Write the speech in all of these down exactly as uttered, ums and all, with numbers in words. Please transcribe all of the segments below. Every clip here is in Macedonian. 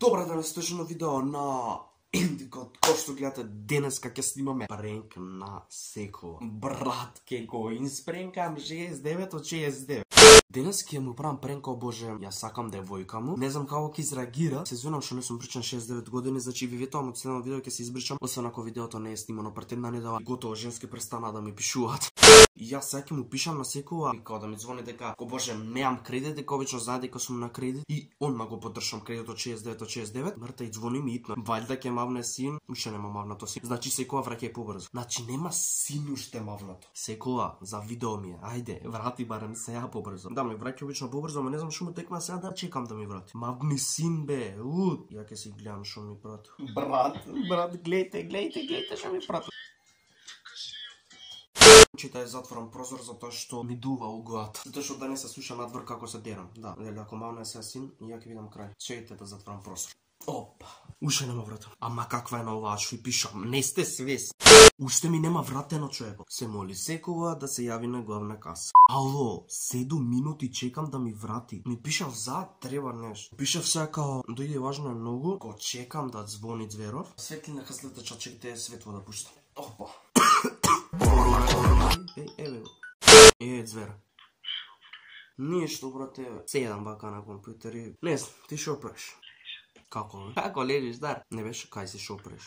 Добра денес точно видео на Индикот, кој што гледате денеска ќе снимаме пренк на Секо. Брат, ке го инспренкам шеесет и девет од шеесет и девет. Денес ќе му правам пренк, о боже, ја сакам девојка му. Не знам како ќе изреагира. Се извинувам што не сум причан шеесет и девет години, значи ви ветувам од следното видео ќе се избричам, освен ако видеото не е снимано пред една недела. Готово, женски престана да ми пишуваат. И јас сега ќе му пишам на Секова, и као да ми звони дека, о боже, немам кредит, дека обично знае дека сум на кредит и он ма го поддржам кредит од шеесет и девет од шеесет и девет. Мрта и звони ми итно. Вајда ќе мавне син, уште нема мавнато син. Значи Секова враќај побрзо. Значи нема син уште мавнато. Секова, за видео ми е. Ајде, врати барем сега побрзо. Да ми враќа обично побрзо, ама не знам што му текна сега да чекам да ми врати. Мавни син бе. Ут, ја ќе си гледам што ми прати. Брат, брат, гледајте, гледајте, гледајте што ми прати. Чита е затворам прозор затоа што ми дува углата. Затоа што да не се слуша надвор како се дерам. Да, дали ако мавна е сега син, и ја ќе видам крај. Чекайте да затворам прозор. Опа. Уште нема вратено. Ама каква е на оваа што и пишам? Не сте свес. Уште ми нема вратено човекот. Се моли Секова да се јави на главна каса. Ало, седум минути чекам да ми врати. Ми пишав за треба нешто. Пишав сега као дојде важно е многу. Го чекам да звони Зверов. Светлина хаслета чачекте светло да пуштам. Опа. Еј, еве го. Е, Звера. Ништо, брате, еве. Седам вака на компјутер и... Не знам, ти шо правиш? Како, бе? Како лежиш, дар? Не беше, кај си шо правиш?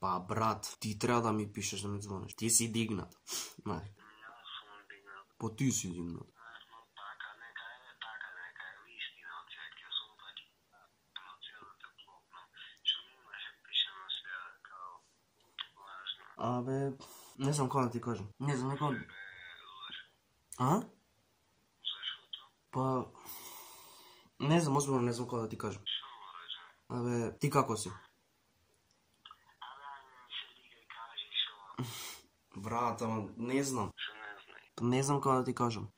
Па, брат, ти треба да ми пишеш да ми звониш. Ти си дигнат. Мај. Па ти си дигнат. Абе, не знам како да ти кажам. Не знам како... А? Па... Не знам, озбилно не знам како да ти кажам. Абе, ти како си? Брат, ама не знам. Не знам како да ти кажам.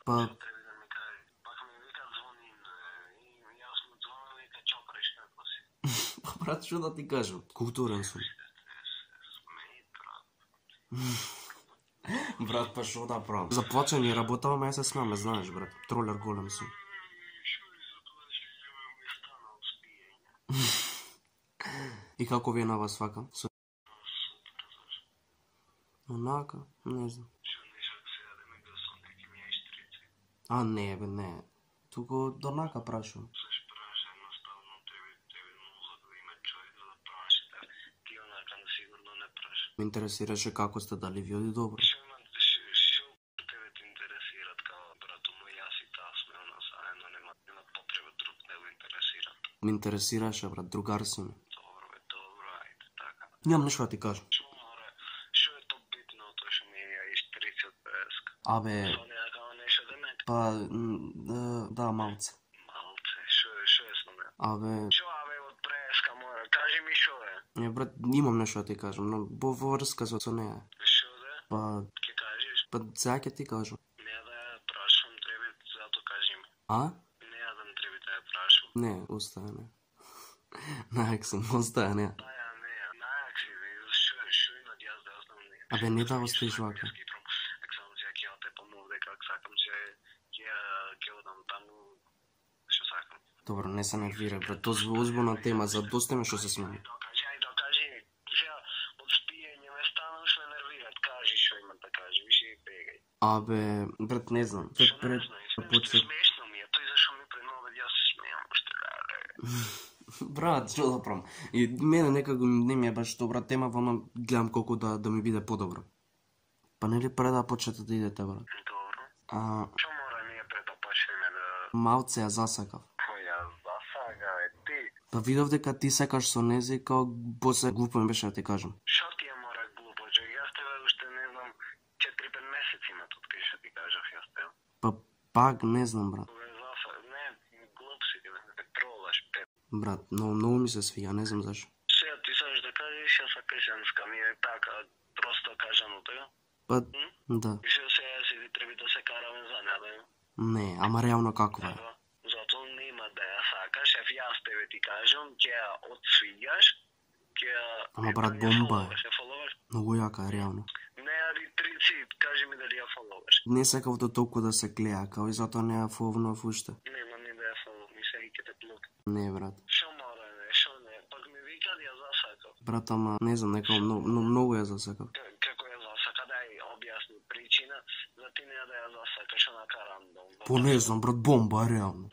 Па... Брат, што да ти кажам? Културен сум. Брат, па шо да правам? За плачење работава, ама ја се смеаме, знаеш, брат. Тролер голем сум. И како ви е на вас вака? Онака, не знам. А, не, бе, не. Туку донака прашувам. Ме интересираше како сте, дали ви оди добро. Шо тебе те интересират као брато мој, јас и таа сме она заедно, нема нема потреба друг да го интересират. Ме интересираше, брат, другар си ми. Добро бе, добро, ајде така. Нямам нешто да ти кажам. Шо море, шо е тоа битно тоа што ми ја истрици од песка? Абе, Со неа као нешто да ме? па, да, малце. Малце, шо е, шо е со неа? Абе, Шо абе од преска море, кажи ми шо е? не, брат, имам нешто да ти кажам, но во врска со со неа. Шо да? Па, Ке кажеш? па, сега ќе ти кажам. Не да ја прашам, треба зато кажи ми. А? Не ја да треба да ја прашам. Не, оставя не. Најак сум, оставя не. Да ја не ја, најак си, шо е, шо има да јас да ја знам не. Абе, не да оставиш вака. Ак само ќе ќе те помогне как сакам се ќе ќе одам таму што сакам. Добро, не се нервира, брат, тоа е озбилна тема, за доста ме што се смеја. Докажи, ај докажи ми. Сега од спиење ме стана уште нервират. Кажи што има да кажи, више и бегај. Абе, брат, не знам. Пред Што пред не знаеш, почет. смешно ми е, тој зашо ми пред нови јас се смеам уште. Брат, што да правам? И мене некако не ми е баш добра тема, вама гледам колку да да ми биде подобро. Па нели пред да почнете да идете, брат? Добро. А, Што мора ние пред да почнеме да... малце ја засакав. Кој ја засага, е ти? Па видов дека ти сакаш со незе и као после глупо ми беше да ти кажам. Шо ти ја мора глупо, че јас тебе уште не знам четири-пет месеци имат од кај што ти кажав јас тебе. Па пак не знам, брат. Кога засага, не, глуп си ти, не тролаш, пет. Брат, многу многу ми се свија, не знам зашо. Сега ти сакаш да кажеш, ја сакаш женска, ми е така, просто кажано така. Па да. И што сега си ти треба да се караме за неа, да? Не, ама реално каква е? Ева, затоа нема да ја сакаш, еф јас тебе ти кажам, ќе ја отсвиѓаш, ќе ја... Ама брат, бомба е. Се фоловаш? Многу јака е реално. Не ја јади трици, кажи ми дали ја фоловаш. Не сакав до толку да се гледа, као и затоа не ја фоловнав уште. Нема ни да ја фолов, ми се викате блок. Не, брат. Шо мора, не, шо не, пак ми вика да ја засакав. Брат, ама не знам, некао многу, многу ја засакав. К- Како ја засака, дај објасни причина, за ти не да ја засакаш онака рандом. По не знам, брат, бомба, реално.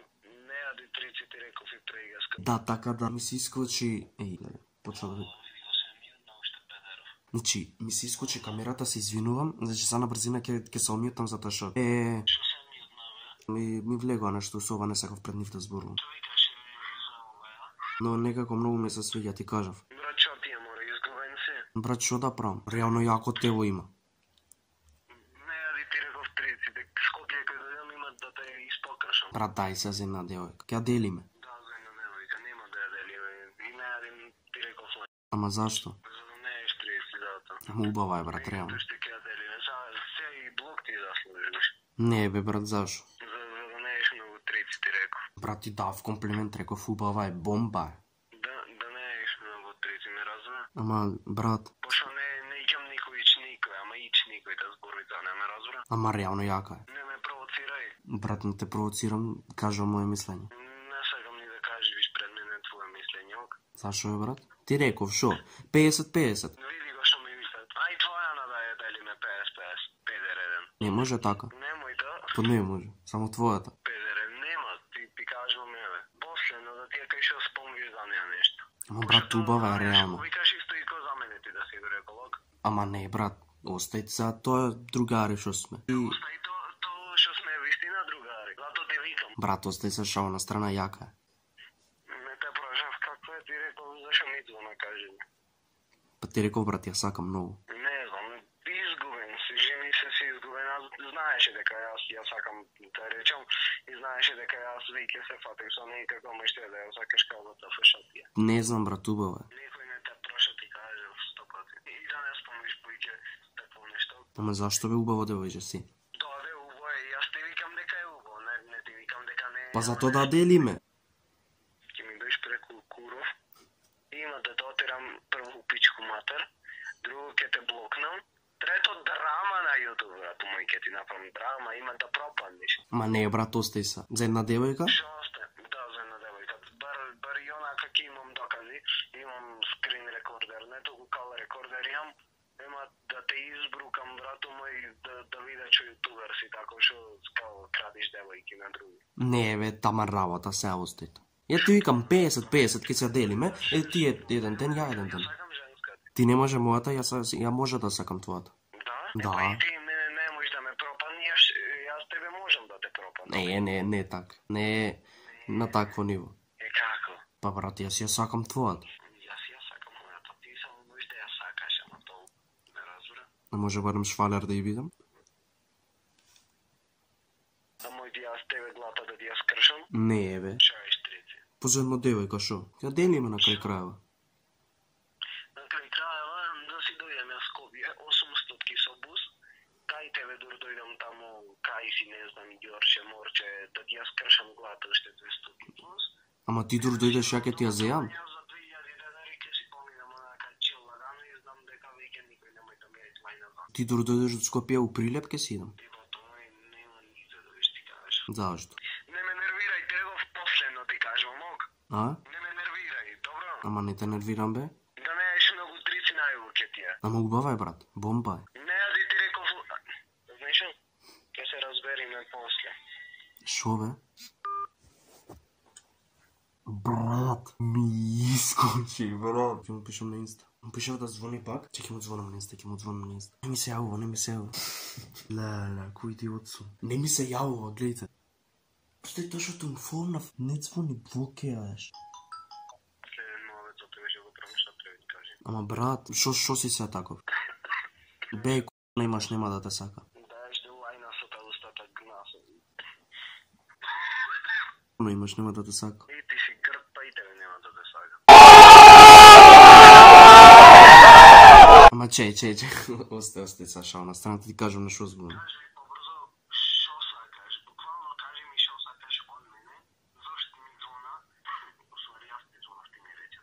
Не јади трици, ти реков и прегаска. Да, така да ми се искочи... Еј, да, почна да... Видео се мјутна уште педеров. Значи, ми се искочи камерата, се извинувам, значи са на брзина ќе ќе се омјутам затоа што... Е, Шо се мјутна, бе? ми, ми влегува нешто сова, не сакав пред нив да зборувам. Што викаше за ова, ја? Но некако многу ми се свиѓа, ти кажав. Брат, шо ти ја мора, изгубен си? Брат, што да правам? Реално јако тело има. Не јади ти реков трици, дек Скопје кај дојдам има да те испокршам. Брат, дај се за една девојка. Ќе ја делиме. Да, за една невојка, нема да ја делиме. И не јадим ти реков лај. Ама зашто? За да не еш трици, зато. Ама убава е, брат, реално. Тоа што ќе ја делиме, са, се и блок ти заслужиш. Не, бе, брат, зашо? За, за да не еш многу трици, ти реков. Брат, ти дав комплимент, реков убава е, бомба е. Да, да не еш многу трици, ме разбира? Ама, брат, Пошто не, не икам никој ич никој, ама ич никој да збори за не ме разбира? ама реално јака е. Не ме провоцирај. Брат, не те провоцирам, кажам моje мислење. Не сакам ни да кажеш пред мене твое мислење, ок? Зашо е, брат? Ти реков, шо? педесет педесет. Види го што ми викат. Ај твоја да ја делиме педесет педесет. Педер еден. Не може така. Немој да. То не може, само твојата. Педер нема, ти ти кажувам еве. После, но да ти ја кажеш спомниш за неа нешто. Ама, брат, убава е, реално. Викаш исто и ко за мене ти да си го рекол, ок? Ама не, брат, остајте за тоа другари што сме. И, Остај то, то што сме вистина другари. Зато те викам. брат, остај се шао на страна, јака е. Не те прашав како е, ти рекол зашо ми звона кажи ми. Па ти реков, брат, ја сакам многу. Не знам, изгубен си, жени се си изгубен, аз знаеше дека јас ја сакам да речам и знаеше дека јас веќе се фатих со неј како ме ще да ја сакаш како да те фашатија. Не знам, брат, убава е. Никој не те праша ти каже сто пати. И да не спомниш поиќе такво нешто. Ама зашто бе убаво девојче си? Тоа бе убаво е, јас ти викам дека е убаво, не, не ти викам дека не е. Па зато да делиме. Ќе ми доиш преку Куров. Има да дотерам прво пичку матер, друго ќе те блокнам, трето драма на YouTube, брат, мој ќе ти направам драма, има да пропаднеш. Ма не, брат, остај се. За една девојка? Шо осте? Да, за една девојка. Бар, бар и онака ќе имам докази, имам скрин рекордер, не толку кал рекордер имам, нема да те избрукам, брато мој, да, да виде што ютубер си, тако што као крадиш девојки на други. Не, бе, таман работа, се остајте. Ја ти викам педесет педесет, ке се делиме, е ти е еден ден, ја еден ден. Сакам женска. Ти не може мојата, ја, са- ја може да сакам твојата. Да? Да. Па и ти мене не можеш да ме пропаднеш, јас тебе можам да те пропаднам. Не, не, не така. Не е на такво ниво. Е како? Па, брат, јас ја сакам твојата. Јас ја сакам мојата, ти само можеш да ја сакаш, ама толку не разбира. Не може барем швалер да ја видам? А мој ти јас тебе глата да ти ја скршам? Не, бе. Шо е штрици? По за една девојка, шо? Ја делиме на крај крајава. На крај крајава да си дојдем јас Скопје, осумстот со бус, кај тебе дур дојдам таму, кај си не знам, Ѓорче, Морче, да ти ја скршам глата уште двеста плюс. Ама ти дур дојдеш, ја ке ти ја зејам. Јас за две илјади денари ќе си поминам онака чил лагано и знам дека веќе никој немој да ме е твај назад. Ти дур дојдеш од Скопје у Прилеп, ке си идам. И бото мој нема нито да виш ти кажеш. Зашто? Не ме нервирај, требав последно ти кажувам, ок? А? Не ме нервирај, добро? Ама не те нервирам, бе. Да не еш многу трици најубаво ќе ти е. Ама убава е, брат. Бомба е. Не ја да ти реков... Знаеш, ќе се разбериме после. Шо, бе? Брат, ми искочи, брат. Ќе му пишам на инста. Му пишав да звони пак. Че ќе му звонам на инста, ќе му звонам на инста. Не ми се јавува, не ми се јавува. Леле, кој ти отсум. Не ми се јавува, гледайте. Стој тоа што му фонав, не звони, блокираеш. Следен новец, зато беше го промишла, треба ти кажи. Ама брат, шо шо си се таков? Бе, к***, немаш, нема да те сака. Даеш ти лајна со та устата гнасо. Но имаш, нема да те сака. И ти си грд, па и тебе нема да те сака. Ама чеј, чеј, чеј. Осте, осте, са шал на страна, ти кажам на шо збунам. Кажи ми побрзо, шо сакаш? Буквално кажи ми шо сакаш од мене, зашто ми звона, усвари јас ти звонав, ти ми рече.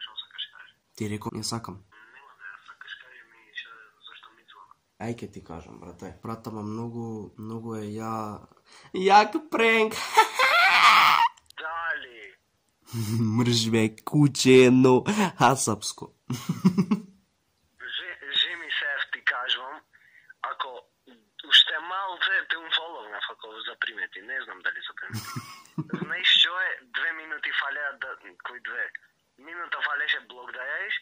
Шо сакаш кажи? Ти рекол, ја сакам. Нема да ја сакаш, кажи ми шо, зашто ми звона. Ај ке ти кажам, брате. Брата, ма многу, многу е ја... Јак пренк! Дали? Мрж бе, куче едно хасапско. Жеми сеф ти кажувам, ако уште малце те унфоловнав ако запримети, не знам дали запримети. Знаеш што е, две минути фалеа да... Кој две? Минута фалеше блок да јаиш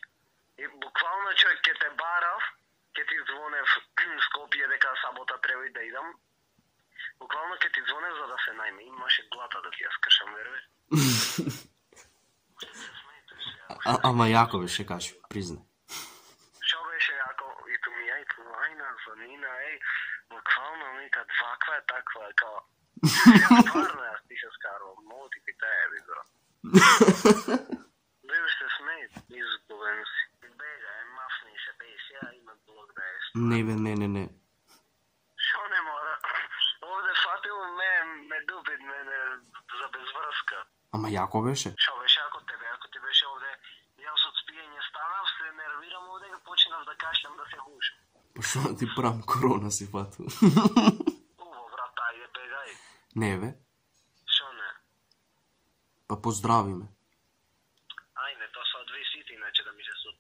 и буквално човек ке те барав, ке ти звонев Скопје дека сабота треба и да идам. Буквално ке ти звонев за да се најме, имаше глата да ти ја скршам, верве. А, ама јако беше, кажи, призна. Шо беше јако, и ту ми ја, и ту лајна, звонина, еј, буквално нека дваква е таква, е као... Ја тварно јас ти се скарувам, много ти питае, би бро. Бил се смеј, изгубен си. Бега, е мафни се беш, ја имат блок да еш. Не бе, не, не, не. Шо не мора? Овде фатил ме, ме дубит мене за безврска. Ама јако беше? Шо беше ако тебе, ако ти беше овде, јас од спиење станав, се нервирам овде и почнав да кашлям да се хушам. Па шо да ти правам, корона си фатил? Уво, брат, ајде бегај. Не бе, Шо не? па поздрави ме. Ајде, тоа се одвисите, иначе да ми се суд.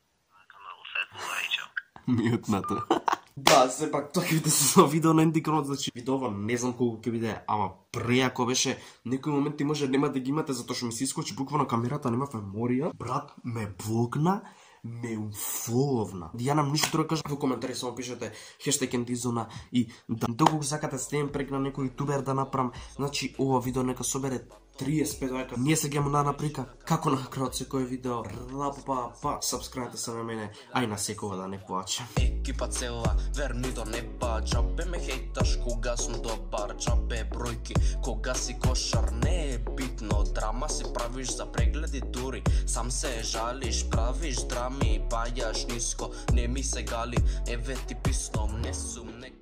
Канал светло, ајчо. Мјутнато. Да, сепак тоа ќе биде со видео на ендикронот, значи видеова не знам колку ќе биде, ама преако беше, некој момент ти може нема да ги имате затоа што ми се искочи буквално камерата, нема меморија. Брат ме блокна, ме уфоловна. Ја нам ништо друго кажа во коментари, само пишете хештег ендизона и да доколку сакате стеем прек на некој ютубер да направам, значи ова видео нека собере триесет пет лајка. Ние се гемо на наприка како на крајот секој видео. Рапа па, сабскрајбте се на мене, ај на секој да не плаче. Екипа цела, верни до неба, джабе ме хейташ кога сум добар, джабе бројки, кога си кошар, не е битно, драма си правиш за прегледи дури, сам се жалиш, правиш драми, бајаш ниско, не ми се гали, еве ти писно, не сум нека